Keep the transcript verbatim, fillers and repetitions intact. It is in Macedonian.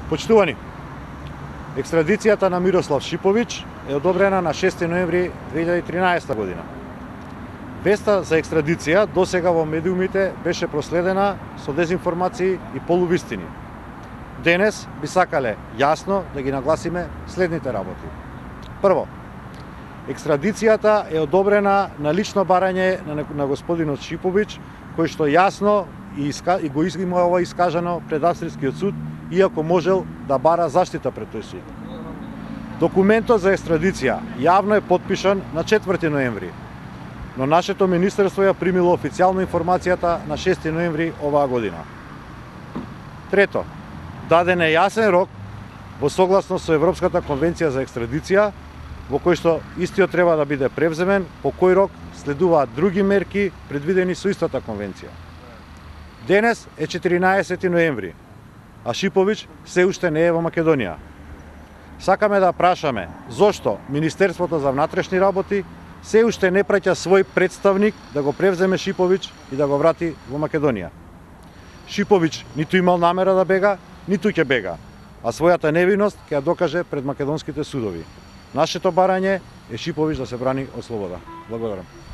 Почитувани, екстрадицијата на Мирослав Шиповиќ е одобрена на шести ноември две илјади и тринаесета година. Веста за екстрадиција досега во медиумите беше проследена со дезинформации и полувистини. Денес би сакале јасно да ги нагласиме следните работи. Прво, екстрадицијата е одобрена на лично барање на, на господинот Шиповиќ, кој што јасно и, иска, и го има ова искажано пред Австрискиот суд, иако можел да бара заштита пред тој суд. Документот за екстрадиција јавно е подпишан на четврти ноември, но нашето министерство ја примило официјално информацијата на шести ноември оваа година. Трето, даден е јасен рок во согласност со Европската конвенција за екстрадиција, во кој што истиот треба да биде превземен, по кој рок следуваат други мерки предвидени со истата конвенција. Денес е четиринаесети ноември, а Шиповиќ се уште не е во Македонија. Сакаме да прашаме зошто Министерството за внатрешни работи се уште не праќа свој представник да го превземе Шиповиќ и да го врати во Македонија. Шиповиќ ниту имал намера да бега, ниту ќе бега, а својата невиност ќе ја докаже пред македонските судови. Нашето барање е Шиповиќ да се брани од слобода. Благодарам.